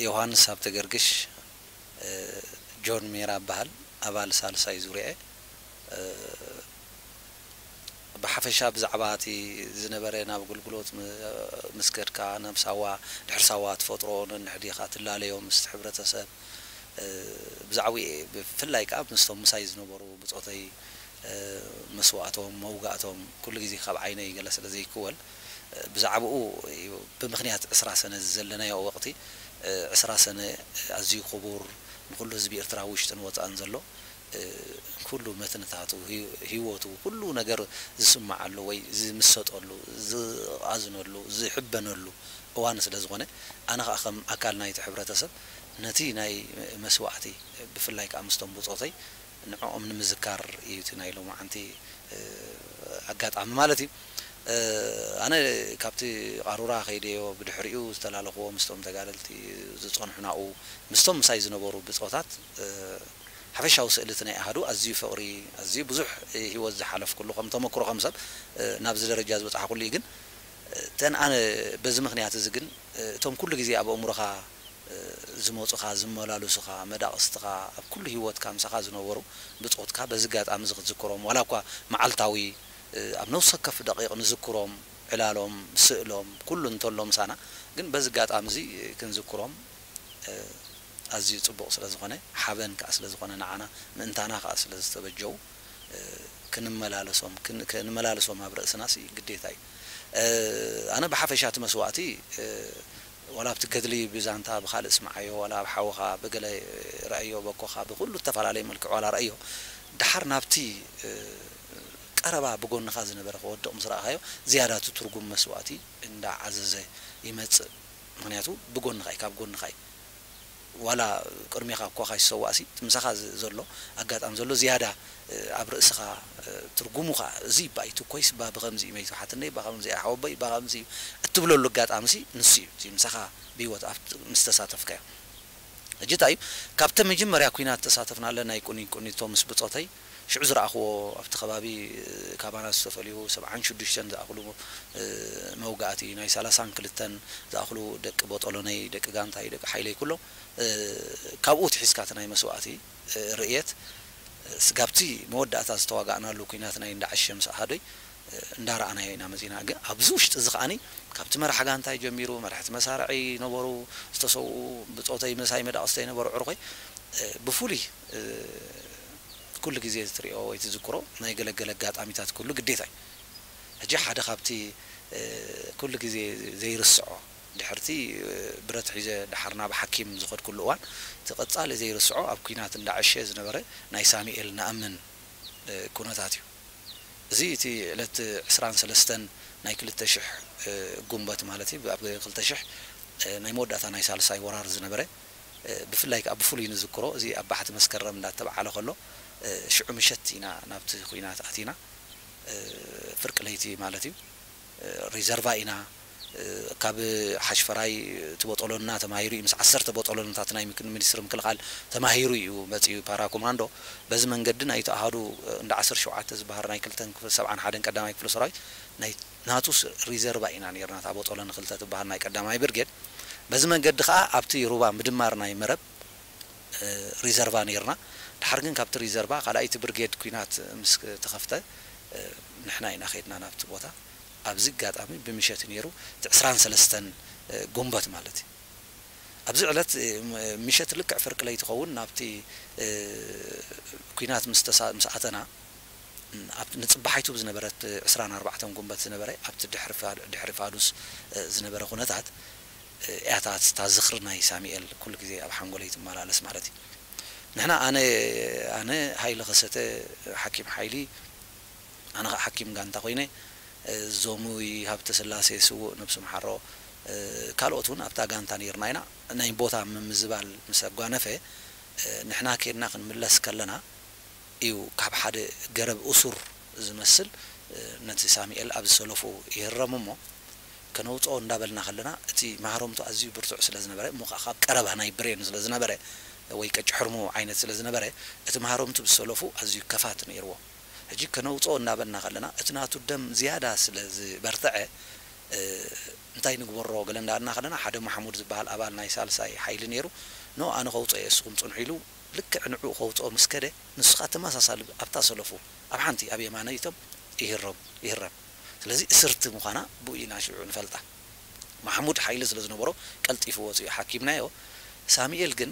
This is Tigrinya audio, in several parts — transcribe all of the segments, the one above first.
ዮሃንስ ሃብተገርግሽ፣ ጆን ሜራ እበሃል፣ ኣባል ሳልሳይ ዙርያ እየ። ብሓፈሻ ብዛዕባ እቲ ዝነበረ ናብ ኣገልግሎት ምስ ከድካ፣ ናብ ሳዋ፣ ድሕሪ ሳዋ ትፈጥሮ ነንሕዲኻ ትላለዮ ምስቲ ሕብረተሰብ፣ ብዛዕባኡ እየ፣ ብፍላይ ከኣ ምስቶም ምሳይ ዝነበሩ ብጾተይ መስዋእቶም፣ መውጋእቶም፣ ኩሉ ግዜ ካብ ዓይነይ ገለ ስለ ዘይክወል፣ ብዛዕባኡ እዩ። ብምኽንያት ዕስራ ሰነ እዚ ዘለናዮ ወቕቲ፣ ዕስራ ሰነ ኣዝዩ ክቡር፣ ንኹሉ ህዝቢ ኤርትራ ውሽጥን ወጻእን ዘሎ፣ ኩሉ መትንታቱ፣ ህይ-፣ ህይወቱ፣ ኩሉ ነገር ዝስምዓሉ ወይ ዝምሰጠሉ፣ ዝቓዝነሉ፣ ዝሕበነሉ እዋን ስለ ዝኾነ፣ ኣነ ኸኣ ከም ኣካል ናይቲ ሕብረተሰብ ነቲ ናይ መስዋእቲ፣ ብፍላይ ከኣ ምስቶም ብጾተይ ንዕኦም ንምዝካር እዩ እቲ ናይ ሎማዓንቲ ኣጋጣሚ ማለት እዩ። ኣነ ካብቲ ቃሩራ ከይደዮ ብድሕሪኡ ዝተላለኽዎ ምስቶም ተጋደልቲ ዝጸንሑ ናብኡ ምስቶም ምሳይ ዝነበሩ ብጾታት ሓፈሻዊ ስእሊ እቲ ናይ ኣሃዱ ኣዝዩ ፍቕሪ፣ ኣዝዩ ብዙሕ ህይወት ዝሓለፍኩሉ ከም ተመክሮ ከም ሰብ ናብዚ ደረጃ ዝበጻሕኩሉ እዩ። ግን እተን ኣነ በዚ ምኽንያት እዚ ግን እቶም ኩሉ ግዜ ኣብ ኣእምሮኻ ዝመጹኻ፣ ዝመላለሱኻ፣ መዳቕስትኻ፣ ኣብ ኩሉ ህይወትካ ምሳኻ ዝነበሩ ብጾትካ በዚ ኣጋጣሚ እዚ ክትዝክሮም፣ ዋላ እኳ መዓልታዊ ኣብ ነፍሲ ወከፍ ደቂቕ ንዝክሮም፣ ዕላሎም፣ ስእሎም፣ ኩሉ እንተሎ ምሳና፣ ግን በዚ ኣጋጣሚ እዚ ክንዝክሮም ኣዝዩ ጽቡቕ ስለ ዝኾነ፣ ሓበን ከኣ ስለ ዝኾነ ንዓና፣ ምእንታና ከኣ ስለ ዝተበጀዉ፣ ክንመላለሶም፣ ክን-፣ ክንመላለሶም ኣብ ርእስናሲ ግዴታ እዩ። ኣነ ብሓፈሻ እቲ መስዋእቲ፣ ዋላ ኣብቲ ገድሊ ብዛንታ ብኻልእ ስምዓዮ፣ ዋላ ኣብ ሓውኻ ብገለ ረኣዮ፣ በኮኻ ብኹሉ እተፈላለየ መልክዕ ዋላ ረኣዮ፣ ደሓር ናብቲ ቀረባ ብጎንኻ ዝነበረ ክወድቕ ምስ ረኣኻዮ፣ ዝያዳ እቲ ትርጉም መስዋእቲ እንዳዓዘዘ ይመጽእ። ምኽንያቱ ብጎንኻ እዩ፣ ካብ ጎንኻ እዩ። ዋላ ቅድሜኻ እኳ ካይሰዋእሲ፣ እቲ ምሳኻ ዝ-፣ ዘሎ ኣጋጣሚ ዘሎ ዝያዳ፣ እ፣ ኣብ ርእስኻ፣ እ፣ ትርጉሙ ኸኣ፣ እዚ እባ እዩ ትኮይስ፣ እባ ብኸምዚ እዩ መይቱ፣ ሓትነይ እባ ከምዚ እያ፣ ሓወቦይ እባ ከምዚ እዩ እትብለሉ ኣጋጣሚሲ ንሱ እዩ። እቲ ምሳኻ ብህይወት ኣብቲ ምስ ተሳተፍካዮ። ሕጂ እንታይ እዩ፣ ካብቲ መጀመርያ ኲናት ተሳተፍናለን ናይ ቁኒ-፣ ቁኒቶ ምስ ብጾተይ፣ ሽዑ ዝረኣኽዎ ኣብቲ ከባቢ፣ እ፣ ካባና ዝተፈልዩ ሰብዓን ሽዱሽተን ዝኣኽሉ፣ እ፣ መውጋእቲ፣ ናይ ሰላሳን ክልተን ዝኣኽሉ ደቂ ቦጦሎነይ፣ ደቂ ጋንታይ፣ ደቂ ሓይለይ ኩሎም፣ እ፣ ካብኡ ትሒዝካ እቲ ናይ መስዋእቲ፣ እ፣ ርእየት፣ እ፣ ስጋብቲ መወዳእታ ዝተዋጋእናሉ ኲናት ናይ እንዳዓሸ ምስ ኣሃዶይ፣ እ፣ እንዳረኣናዮ ኢና መጺና። ግን ኣብዚ ውሽጢ እዚ ከኣኒ ካብቲ መራሕ ጋንታይ ጀሚሩ፣ መራሕቲ መሳርዒ ነበሩ፣ ዝተሰውኡ፣ ብጾተይ ምሳይ መዳቕስተይ ነበሩ፣ ዕርኾይ፣ እ፣ ብፍሉይ፣ እ፣ ኩሉ ግዜ እትሪኦ ወይ ትዝክሮ ናይ ገለገለ ኣጋጣሚታት ኩሉ ግዴታ እዩ። ሕጂ ሓደ ካብቲ፣ እ፣ ኩሉ ግዜ ዘይርስዖ፣ ድሕርቲ፣ እ፣ ብረት ሒዘ ደሓር ናብ ሓኪም ዝኸድኩሉ እዋን፣ እቲ ቀጻሊ ዘይርስዖ ኣብ ኲናት እንዳዓሸ ዝነበረ ናይ ሳሙኤል ነኣምን፣ እ፣ ኩነታት እዩ። እዚ እቲ ዕለት ዕስራን ሰለስተን ናይ ክልተ ሽሕ፣ እ፣ ጉንበት ማለት እዩ። ኣብ ክልተ ሽሕ፣ እ፣ ናይ መወዳእታ ናይ ሳልሳይ ወራር ዝነበረ፣ እ፣ ብፍላይ ከኣ ብፍሉይ ንዝክሮ፣ እዚ ኣብ ባሕቲ መስከረም እንዳተባዓለ ከሎ፣ እ፣ ሽዑ ምሸት ኢና ናብቲ ኲናት ኣቲና። እ፣ ፍርቂ ለይቲ ማለት እዩ። እ፣ ሪዘርቫ ኢና። እ፣ ካብ ሓሽፈራይ እቲ ቦጦሎና ተማሂሩ እዩ። ምስ ዓሰርተ ቦጦሎንታት ናይ ምክ-፣ ሚኒስትሪ ምክልኻል ተማሂሩ እዩ መጺኡ ፓራ ኮማንዶ። በዚ መንገዲ ናይቲ ኣሃዱ፣ እ፣ እንዳ ዓሰርተ ሸውዓተ ዝበሃል ናይ ክልተን ክፍለ፣ ሰብዓን ሓደን ቀዳማይ ክፍለ ሰራዊት ናይ ናቱ ስ-፣ ሪዘርቫ ኢና ነይርና፣ እታ ቦጦሎኒ ክልተ ትበሃል ናይ ቀዳማይ ብርጌድ። በዚ መንገዲ ከኣ ኣብቲ ሩባ ምድማር ናይ መረብ እ፣ ሪዘርቫ ነይርና። ድሓር ግን ካብቲ ሪዘርቫ ካልኣይቲ ብርጌድ ኲናት ምስ ተኸፍተ፣ እ፣ ንሕና ኢና ኸይድና ናብቲ ቦታ። ኣብዚ ኣጋጣሚ ብምሸት እዩ ነይሩ፣ እቲ ዕስራን ሰለስተን፣ እ፣ ጉንበት ማለት እዩ። ኣብዚ ዕለት፣ እ፣ ም-፣ ምሸት ልክዕ ፍርቂ ለይቲ ይኸውን ናብቲ፣ እ፣ ኲናት ምስ ተሳ-፣ ምስ ኣተና፣ ኣብ ንጽባሓይቱ ብዝነበረት ዕስራን ኣርባዕተን ጉንበት ዝነበረ፣ ኣብቲ ድሕሪ ፋ-፣ ድሕሪ ፋዱስ፣ እ፣ ዝነበረ ኩነታት፣ እ፣ እያ እታ፣ እታ ዝኽሪ ናይ ሳሙኤል ኩሉ ግዜ ኣብ ሓንጎለይ ትመላለስ ማለት እዩ። ንሕና፣ ኣነ፣ ኣነ፣ ሃይለ ከሰተ፣ ሓኪም ሓይሊ፣ ኣነ ኸዓ ሓኪም ጋንታ ኮይነ፣ እ፣ ዞሙይ ሃብተስላሴ ስዉእ ነብሱ መሓሮ፣ እ፣ ካልኦት እውን ኣብታ ጋንታ ነይርና ኢና። ናይ ቦታ ምምዝባል ምስ ኣጓነፈ፣ እ፣ ንሕና ኬድና ክንምለስ ከለና፣ እዩ ካብ ሓደ ገረብ እሱር ዝመስል፣ እ፣ ነቲ ሳሙኤል ኣብ ዝሰለፉ ይህረም እሞ፣ ከነውጽኦ እንዳበልና ከለና፣ እቲ ማህረምቱ ኣዝዩ ብርቱዕ ስለ ዝነበረ፣ እሞ ከኣ ካብ ቀረባ ናይ ብሬን ስለ ዝነበረ፣ ወይ ቀጭ ሕርሙ ዓይነት ስለ ዝነበረ፣ እቲ ማህረምቱ ብዝሰለፉ ኣዝዩ ከፋት ነይርዎ። ሕጂ ከነውጽኦ እንዳበልና ከለና፣ እቲ ናቱ ደም ዝያዳ ስለ ዝበርትዐ፣ እንታይ ንግበሮ ገለ እንዳበልና ከለና፣ ሓደ ማሕሙድ ዝበሃል ኣባል ናይ ሳልሳይ ሓይሊ ነይሩ። ኖ፣ ኣነ ከውፅኦ እየ፣ እስኹም ፅንሑ ኢሉ፣ ልክዕ ንዕኡ ከውፅኦ ምስ ከደ፣ ንሱ ከዓ ተመሳሳሊ ኣብታ ሰለፉ ኣብ ሓንቲ ኣብ የማነይቶም ይህረም ይህረም። ስለዚ እስርቲ ምዃና ብኡ ኢና ሽዑ ንፈልጣ። ማሕሙድ ሓይሊ ስለ ዝነበሮ ቀልጢፉ ወፂኡ ሓኪምናዮ። ሳሙኤል ግን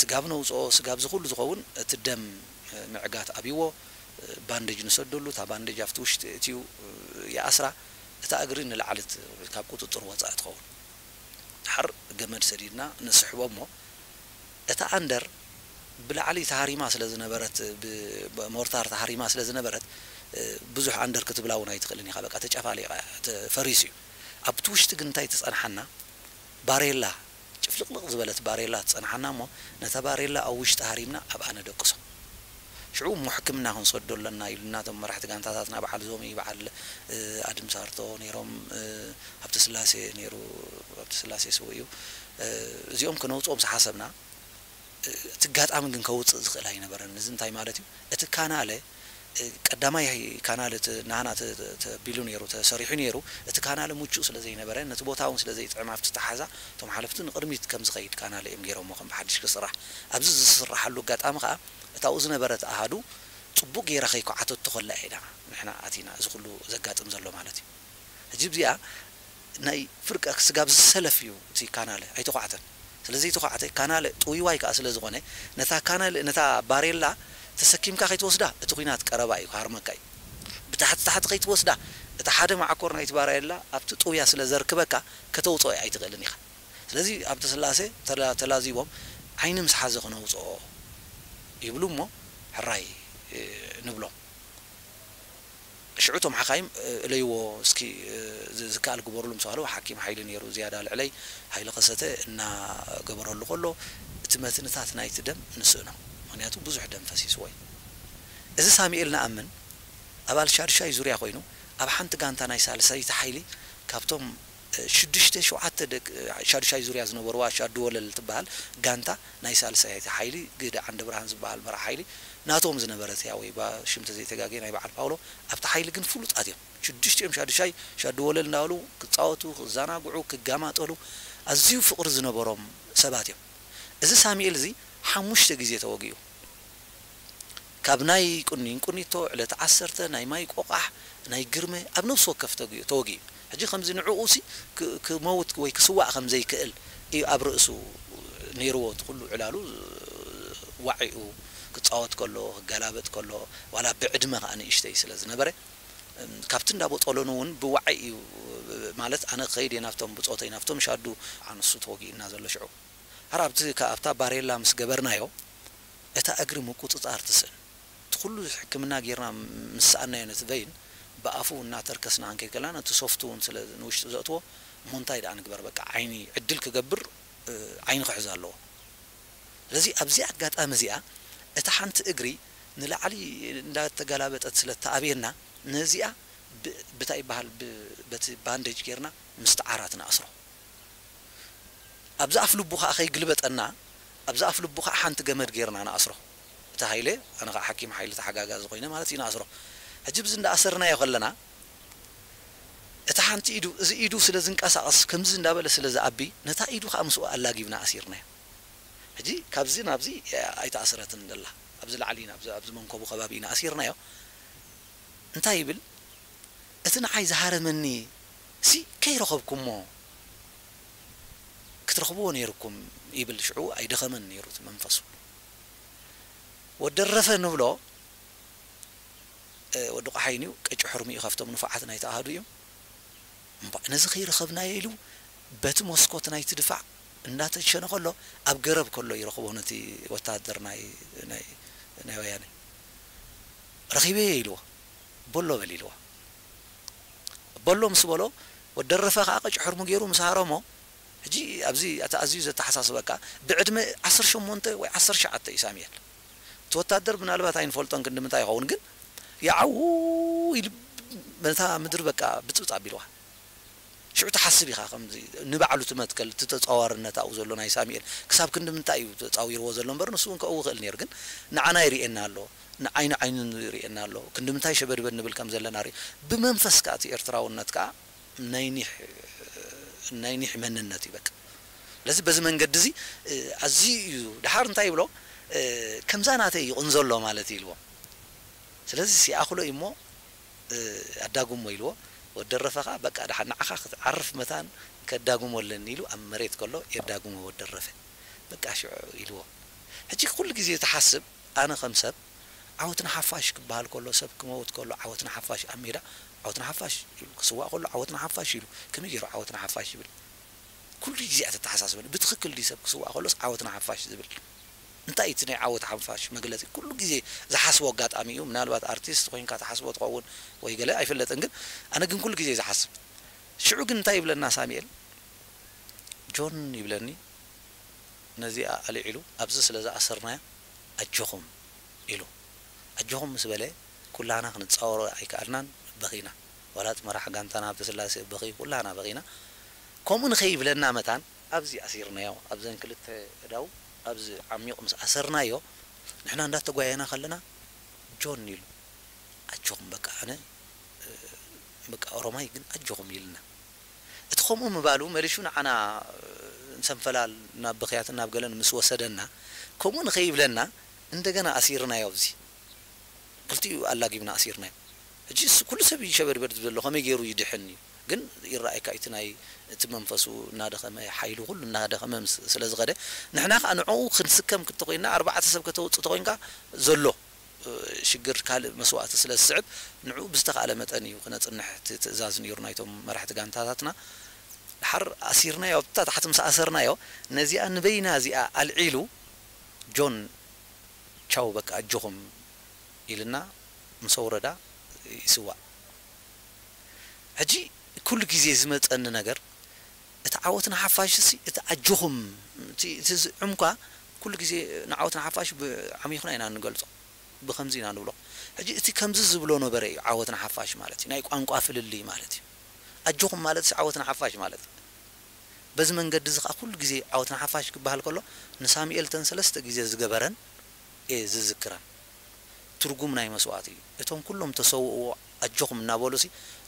ስጋብ ነውፅኦ፣ ስጋብ ዝኹሉ ዝኸውን እቲ ደም ምዕጋት ኣብይዎ፣ ባንደጅ ንሰደሉ፣ እታ ባንደጅ ኣብቲ ውሽጢ እትዩ ይኣስራ፣ እታ እግሪ ንላዕሊ ካብ ቁፅፅር ወፃኢ ትኸውን። ድሓር ገመድ ሰዲድና ንስሕቦ እሞ፣ እታ ኣንደር ብላዕሊ ተሃሪማ ስለ ዝነበረት፣ ብሞርታር ተሃሪማ ስለ ዝነበረት፣ ብዙሕ ኣንደር ክትብላ እውን ኣይትኽእልን ኢኻ። በቃ ተጨፋሊቓ፣ ተፈሪሱ እዩ። ኣብቲ ውሽጢ ግን እንታይ ትጸንሓና? ባሬላ፣ ጭፍልቕልቕ ዝበለት ባሬላ ትጸንሓና እሞ፣ ነታ ባሬላ ኣብ ውሽጢ ሃሪምና ኣብኣ ነደቅሶ። ሽዑ እሞ ሕክምና ክንሰዶ ኣለና ኢሉና፣ እቶም መራሕቲ ጋንታታትና፣ በዓል ዞሚ፣ በዓል ኣድም ሳርቶ ነይሮም፣ ሃብተ ስላሴ ነይሩ፣ ሃብተ ስላሴ ስውእ እዩ። እዚኦም ክነውፅኦም ዝሓሰብና፣ እቲ ኣጋጣሚ ግን ከውፅእ ዝኽእል ኣይነበረን። እዚ እንታይ ማለት እዩ? እቲ ካናለ፣ ቀዳማይ ካናለ እቲ ናህና ተ-፣ ተ-፣ ተቢሉ ነይሩ፣ ተሰሪሑ ነይሩ። እቲ ካናለ ምቹእ ስለ ዘይነበረ፣ ነቲ ቦታ እውን ስለ ዘይጥዕም፣ ኣብቲ ተሓዛ እቶም ሓለፍቲ ንቕድሚት ከም ዝኸይድ ካናለ እዮም ገይሮሞ፣ ከም ብሓድሽ ክስራሕ። ኣብዚ ዝስራሓሉ ኣጋጣሚ ከዓ፣ እታ ኣብኡ ዝነበረት ኣሃዱ ጽቡቕ ገይራ ከይኳዓተቶ ከላ ኢና ንሕና ኣቲና፣ እዚ ኩሉ ዘጋጥም ዘሎ ማለት እዩ። ሕጂ እዚኣ ናይ ፍርቂ ስጋብ ዝሰለፍ እዩ እቲ ካናለ፣ ኣይተዃዕተን። ስለ ዘይተዃዕተ፣ ካናለ ጥውይዋይ ከኣ ስለ ዝኾነ፣ ነታ ካናለ፣ ነታ ባሬላ ተሰኪምካ ከይትወስዳ፣ እቲ ኲናት ቀረባ እዩ፣ ክሃርመካ እዩ። ብታሕቲ ታሕቲ ከይትወስዳ፣ እቲ ሓደ መዓኮር ናይቲ ባሬላ ኣብቲ ጥውያ ስለ ዘርክበካ፣ ከተውጽኦ ኣይትኽእልን ኢኻ። ስለዚ ሃብተ ስላሴ ተላ-፣ ተላዚቦም፣ ዓይኒ ምስ ሓዘ ክነውጽኦ ይብሉ እሞ፣ ሕራይ፣ እ፣ ንብሎም። ሽዑ እቶም ሓኻይም፣ እ፣ እለይዎ እስኪ፣ እ፣ ዝ-፣ ዝከኣል ግበሩሉ ምስ በሃሉ፣ ሓኪም ሓይሊ ነይሩ ዝያዳ ልዕለይ፣ ሃይለ ከሰተ እናገበረሉ ከሎ፣ እቲ መትንታት ናይቲ ደም ንስእኖ። ምኽንያቱ ብዙሕ ደም ፈሲስዎ እዩ። እዚ ሳሙኤል ንኣምን፣ ኣባል ሻድሻይ ዙርያ ኮይኑ፣ ኣብ ሓንቲ ጋንታ ናይ ሳልሰይቲ ሓይሊ ካብቶም ሽዱሽተ ሸውዓተ ደቂ ሻዱሻይ ዙርያ ዝነበርዋ ሻዱ ወለል ትበሃል ጋንታ ናይ ሳልሳይቲ ሓይሊ ግህደ ዓንደ ብርሃን ዝበሃል መራሕ ሓይሊ ናቶም ዝነበረት እያ፣ ወይ ባ ሽም ተዘይተጋግየ ናይ በዓል ፓውሎ ኣብቲ ሓይሊ ግን ፍሉጣት እዮም። ሽዱሽቲኦም ሻዱሻይ ሻዱ ወለል እንዳበሉ ክጻወቱ፣ ክዘናግዑ፣ ክጋማጠሉ ኣዝዩ ፍቕሪ ዝነበሮም ሰባት እዮም። እዚ ሳሙኤል እዚ ሓሙሽተ ግዜ ተወጊኡ። ካብ ናይ ቁኒን ቁኒቶ፣ ዕለት ዓሰርተ፣ ናይ ማይ ቆቋሕ፣ ናይ ግርመ፣ ኣብ ነፍሲ ወከፍ ተጊኡ፣ ተወጊኡ። ሕጂ ከምዚ ንዕኡ ሲ ክ-፣ ክመውት ወይ ክስዋእ ከም ዘይክእል እዩ ኣብ ርእሱ ነይርዎ። እቲ ኩሉ ዕላሉ ዋዒኡ ክጻወት ከሎ፣ ክገላበጥ ከሎ፣ ዋላ ብዕድመ ከኣ ንእሽተይ ስለ ዝነበረ፣ እም፣ ካብቲ እንዳ ቦጦሎኒ እውን ብዋዒ እዩ፣ ማለት ኣነ ክኸይድ እየ ናብቶም ብጾተይ፣ ናብቶም ሻዱ ኣንሱ ተወጊኡና ዘሎ ሽዑ። ሓር ኣብቲ ከ-፣ ኣብታ ባሬላ ምስ ገበርናዮ፣ እታ እግሪ ምቁጽጻር ትስእን። እቲ ኩሉ ሕክምና ጌርና ምስ ሰኣናዮ ነቲ ቨይን፣ ብኣፉ እናተርከስና ክንከይድ ከለና፣ ነቲ ሶፍት እውን ስለ ንውሽጢ ዘእትዎ፣ እሞ እንታይ ደኣ ንግበር፣ በቃ ዓይኒ ዕድል ክገብር፣ እ፣ ዓይኒ ክሕዝ ኣለዎ። ስለዚ ኣብዚ ኣጋጣሚ እዚኣ፣ እታ ሓንቲ እግሪ ንላዕሊ እንዳተገላበጠት ስለ እተኣብየና፣ ነዚኣ ብ-፣ ብታይ ይበሃል፣ ብ-፣ በቲ ባንደጅ ጌርና ምስትዓራት ንኣስሮ። ኣብዚ ኣፍ ልቡ ኸኣ ከይግልበጠና፣ ኣብዚ ኣፍ ልቡ ኸኣ ሓንቲ ገመድ ጌርና ንኣስሮ። እቲ ሃይለ፣ ኣነ ኸኣ ሓኪም ሓይሊ ተሓጋጋዚ ኮይነ ማለት እዩ፣ ንኣስሮ። ሕጂ ብዚ እንዳኣሰርናዮ ከለና፣ እታ ሓንቲ ኢዱ፣ እዚ ኢዱ ስለ ዝንቀሳቐስ፣ ከምዚ እንዳበለ ስለ ዝኣቢ፣ ነታ ኢዱ ኸኣ ምስኡ ኣላጊብና ኣሲርናዮ። ሕጂ ካብዚ ናብዚ ኣይተኣስረትን ዘላ። ኣብዚ ላዕሊ፣ ናብዚ፣ ኣብዚ መንኮቡ ከባቢ ኢና ኣሲርናዮ። እንታይ ይብል? እቲ ንዓይ ዝሃረመኒ ሲ ከይረኸብኩሞ ክትረኽብዎ ነይርኩም ይብል። ሽዑ ኣይደኸመን ነይሩ እቲ መንፈሱ። ወደረፈ ንብሎ፣ እ፣ ወዲ ቆሓይን እዩ፣ ቀጭ ሕርሚ እዩ፣ ካብቶም ንፉዓት ናይቲ ኣሃዱ እዩ። እምባእ፣ ነዚ ከይረኸብናዮ ኢሉ በቲ መስኮት ናይቲ ድፋዕ እንዳተሸነ ከሎ፣ ኣብ ገረብ ከሎ ይረኽቦ ነቲ ወታደር ናይ፣ ናይ፣ ናይ ወያነ። ረኺበዮ ኢልዎ፣ በሎ በል ኢልዎ። በሎ ምስ በሎ፣ ወደረፈ ከኣ ቀጭ ሕርሙ ገይሩ ምስ ሃረሞ፣ ሕጂ ኣብዚ እቲ ኣዝዩ ዘተሓሳስበካ፣ ብዕድመ ዓሰርተ ሸሞንተ ወይ ዓሰርተ ትሽዓተ እዩ ሳሙኤል። እቲ ወታደር ምናልባት ኣይንፈልጦን ክንዲ ምንታይ ይኸውን፣ ግን ያዓው ኢሉ ነታ ምድሪ በቃ ብጽብጽ ኣቢልዋ። ሽዑ ትሓስብ ኢኻ፣ ከምዚ ንባዕሉ እቲ መትከል፣ እቲ ተጻዋርነት ኣብኡ ዘሎ ናይ ሳሙኤል፣ ክሳብ ክንዲ ምንታይ እዩ ተጻዊርዎ ዘሎ እምበር፣ ንሱ እውን ከእዊ ይኽእል ነይሩ። ግን ንዓና ይርእየና ኣሎ፣ ንዓይኒ ዓይኑ ይርእየና ኣሎ። ክንዲ ምንታይ ሸበድበድ ንብል ከም ዘለና ርኢ-፣ ብመንፈስ ከኣ እቲ ኤርትራውነት ከኣ ናይ ኒሕ ናይ ኒሕ መንነት እዩ በቃ። ስለዚ በዚ መንገዲ እዚ ኣዝዩ እዩ። ድሓር እንታይ ይብሎ? ከምዛ ናተይ ይቕንዘሎ ማለት እዩ ኢልዎ። ስለዚ ሲኣኽሎ እዩ እሞ ኣዳጉሞ ኢልዎ። ወዲ ደረፈ ኸዓ በቃ ድሓር ንዓኻ ክትዓርፍ መታን ከዳጉሞ ኣለኒ ኢሉ ኣብ መሬት ከሎ የዳጉሞ ወዲ ደረፈ። በቃ ሽዑ ኢልዎ። ሕጂ ኩሉ ግዜ ትሓስብ ኣነ ከም ሰብ ዓወት ንሓፋሽ ክበሃል ከሎ ሰብ ክመውት ከሎ ዓወት ንሓፋሽ ኣብ ሜዳ ዓወት ንሓፋሽ ኢሉ ክስዋእ ከሎ ዓወት ንሓፋሽ ኢሉ ከመይ ገይሩ ዓወት ንሓፋሽ ይብል? ኩሉ ግዜ እያ ተተሓሳስበኒ። ብትኽክል ድዩ ሰብ ክስዋእ ከሎስ ዓወት ንሓፋሽ ዝብል? እንታይ እቲ ናይ ዓወት ሓፋሽ መግለጺ? ኩሉ ግዜ ዝሓስቦ ኣጋጣሚ እዩ። ምናልባት ኣርቲስት ኮይንካ ትሓስቦ ትኸውን ወይ ገለ ኣይፍለጥን፣ ግን ኣነ ግን ኩሉ ግዜ ዝሓስብ። ሽዑ ግን እንታይ ይብለና ሳሙኤል? ጆን ይብለኒ፣ ነዚኣ ኣልዒሉ ኣብዚ ስለ ዝኣሰርናያ ኣጆኹም ኢሉ። ኣጆኹም ምስ በለ ኩላና ክንጻወሮ ኣይከኣልናን፣ በኺና። ዋላ እቲ መራሕ ጋንታና ሃብተስላሴ በኺ፣ ኩላና በኺና። ከምኡ ንኸይብለና መታን ኣብዚ ኣሲርናዮ፣ ኣብዘን ክልተ እዳው ኣብዚ ዓሚቕ ምስ ኣሰርናዮ፣ ንሕና እንዳተጓየና ከለና ጆን ኢሉ ኣጆኹም በቃ ኣነ በቃ ኦሮማይ ግን ኣጆኹም ኢልና። እቲ ከምኡ ምባሉ መሊሹ ንዓና ንሰንፈላል ናብ ብኽያትን ናብ ገለን ምስ ወሰደና ከምኡ ንኸይብለና እንደገና ኣሲርናዮ። ኣብዚ ክልቲኡ ኣላጊብና ኣሲርናዮ። ሕጂ እሱ ኩሉ ሰብ እዩ ሸበድበድ ዝብል ዘሎ ከመይ ገይሩ ይድሕን እዩ። ግን ይረኣየካ እቲ ናይ እቲ መንፈሱ እናደኸመ ሓይሉ ኩሉ እናደኸመ ምስ- ስለ ዝኸደ ንሕና ከዓ ንዕኡ ክንስከም ክትኮይና ኣርባዕተ ሰብ ከተውፅእ ተኮይንካ ዘሎ ሽግር ካልእ መስዋእቲ ስለ ዝስዕብ ንዕኡ ብዝተኻእለ መጠን እዩ ክነፅንሕ እቲ ትእዛዝ ነይሩ ናይቶም መራሕቲ ጋንታታትና። ድሓር ኣሲርናዮ ኣብታ ታሕቲ ምስ ኣሰርናዮ ነዚኣ ንበይና እዚኣ ኣልዒሉ ጆን ቻው በቃ ኣጆኹም ኢልና ምስ ኣውረዳ ይስዋእ። ሕጂ ኩሉ ግዜ ዝመፀኒ ነገር እቲ ዓወት ንሓፋሽ ሲ እቲ ኣጆኹም እቲ እቲ ዝዕምኳ ኩሉ ግዜ ንዓወት ንሓፋሽ ብዓሚኹና ኢና ንገልፆ። ብኸምዚ ኢና ንብሎ። ሕጂ እቲ ከምዚ ዝብሎ ነበረ እዩ ዓወት ንሓፋሽ ማለት እዩ። ናይ ቋንቋ ፍልልይ ማለት እዩ። ኣጆኹም ማለት ዓወት ንሓፋሽ ማለት እዩ። በዚ መንገዲ እዚ ከዓ ኩሉ ግዜ ዓወት ንሓፋሽ ክበሃል ከሎ ንሳሙኤል ተን ሰለስተ ግዜ ዝገበረን እየ ዝዝክረን። ትርጉም ናይ መስዋእቲ እዩ። እቶም ኩሎም ተሰውእዎ ኣጆኹም እናበሉ ሲ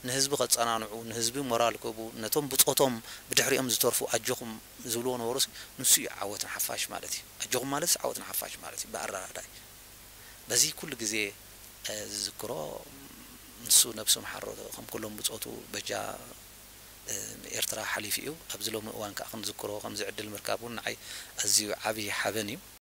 ንህዝቢ ከፀናንዑ ንህዝቢ ሞራል ክህቡ ነቶም ብፆቶም ብድሕሪኦም ዝተርፉ ኣጆኹም ዝብልዎ ነበሩ ሲ ንሱ እዩ ዓወት ንሓፋሽ ማለት እዩ። ኣጆኹም ማለት ዓወት ንሓፋሽ ማለት እዩ ብኣረዳዳይ። በዚ ኩሉ ግዜ ዝዝክሮ ንሱ ነብሱ ምሓሮ ከም ኩሎም ብፆቱ በጃ ኤርትራ ሓሊፉ እዩ። ኣብዚ ሎሚ እዋን ከዓ ክንዝክሮ ከምዚ ዕድል ምርካብ እውን ንዓይ ኣዝዩ ዓብዪ ሓበን እዩ።